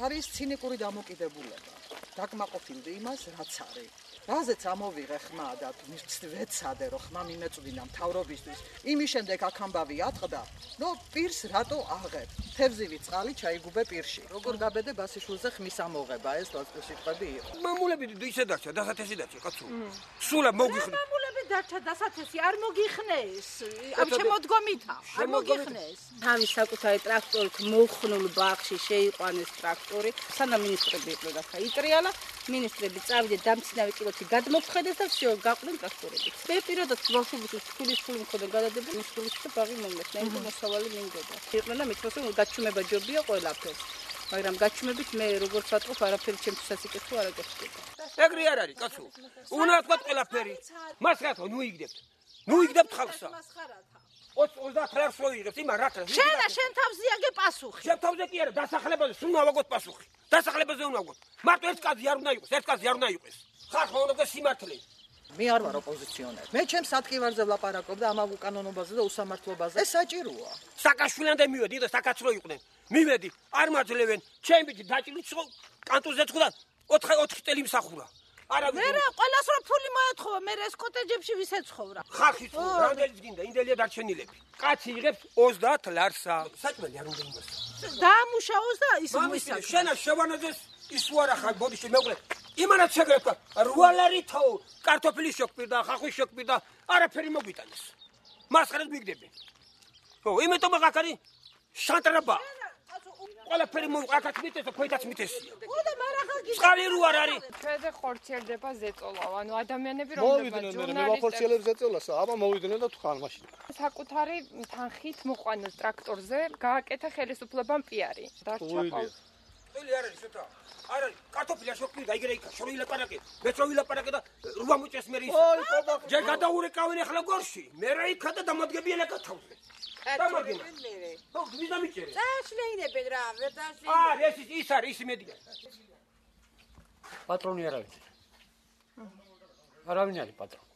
არის ცინიკური დამოკიდებულება. დაკმაყოფილდი იმას, რაც არის. რაზეც ამოვიღე ხმა და ვეცადე, რომ ხმა მიმეწვდინა მთავრობისთვის. იმის შემდეგ აქ ამბავი ატყდა, რომ პირს რატო აღებ? თევზივი წყალი ჩაიგუბე პირში. როგორ გაბედე ბასიშვილზე ხმის ამოღება, ეს სიტყვები იყო. მამულები ისე დარჩა, დასათესი დარჩა, კაცო. სულა მოგიხნე. მამულები დარჩა დასათესი, არ მოგიხნეს. ამ შემოდგომითა, არ მოგიხნეს. თავის საკუთარი ტრაქტორით მოხნულ ბაღში შეიყვანეს ტრაქტორი. სანამ მინისტრები იყვნენ და იტრიალა, მინისტრები წავიდნენ დამცინავი კილოთი გადმოფხედეს და всё, გაყვნენ ტრაქტორები. მე პირადად ბავშვობის თulis ფული მქონდა გადადება მისულის და ბაღი მომეცნა, იმიტომ მოსავალი მინდოდა. იყვნენ და მithos რომ გაჩუმება ჯობია ყველაფერს. მაგრამ გაჩუმებით მე როგორც ვატყობ, არაფერი ჩემთვისაც იკითხო არ აკეთდება. ეგრე არ არის, კაცო. უნდა თქვა ყველაფერი. მას რატო ნუ იგდებთ? ნუ იგდებთ ხალხსა. 30 ლარს რო იღებს, იმან რა თქმა უნდა. შენ თავზე აგე პასუხი. შენ თავზე კი არა, დასახლებაზე სულ ავაგოთ პასუხი. დასახლებაზე უნდა ავაგოთ. მარტო ერთ კაცი არ უნდა იყოს, ერთ კაცი არ უნდა იყოს. ხალხმა უნდა სიმართლე. მე არ ვარ ოპოზიციონერი. მე ჩემს ატკივარზე ვლაპარაკობ და ამავ უკანონობაზე და უსამართლობაზე. ეს საჭიროა. საკაშვილამდე მივედი და საკაცრო იყვნენ. მივედი, არ მაძლევენ. ჩემი ბიჭი დაჭილით ხო კანტონზე ცხდა 4 წელი მსახურა. მე რა ყველას რო ფული მოეთხოვა, მე ეს კოტეჯებში ვის ეცხოვრა. ხალხი თუ რამდენი გინდა, ინდელია დარჩენილები. კაცი იღებს 30 ლარსა. საჭმელი არ უნდა იმას. დაამუშავოს და ის მოისაკ. შენა შევანაძეს ის უარა ხარ ბოდიში მეუღლე. იმანაც შეგრევა 8 ლარითო კარტოფილის შოქპირდა, ხახვის შოქპირდა, არაფერი მოგვიტანეს. მასხარად მიგდები. ხო, იმიტომ აქ არის შანტრაბა. ყველაფერი აქაც მიტეს და ქვეთაც მიტესია. და მარახალ გიჟა. წყალი რო არ არის. ჩვენზე ხორციელდება ზეწოლავ, ანუ ადამიანები მოვიდნენ მე ვახორციელებ ზეწოლასა, აბა მოვიდნენ და თქვან მაშინ. საკუთარი თანხით მოყვანილ ტრაქტორზე გააკეთა ხელისუფლებამ პიარი. დარჩა ყავს. წელი არ არის შოთა. არ არის კარტოფილა შოქპირდა, იგრე იქა, შორი ლაპარაკე. მეც რო ვილაპარაკე და 8 მოჭეს მე ის. ოი, ყობა. ჯერ გადაურეკავენ ახლა გორში. მე რა იქა და დამოდგებიან აკა თავზე. დამოდგება. ხო, ვიზა მიჭერე. წაშლეინებენ რა, ვერ წაშლეინებენ. ეს ის არის, ის იმედია. პატრონი არავინ. არავინ არის პატრონი.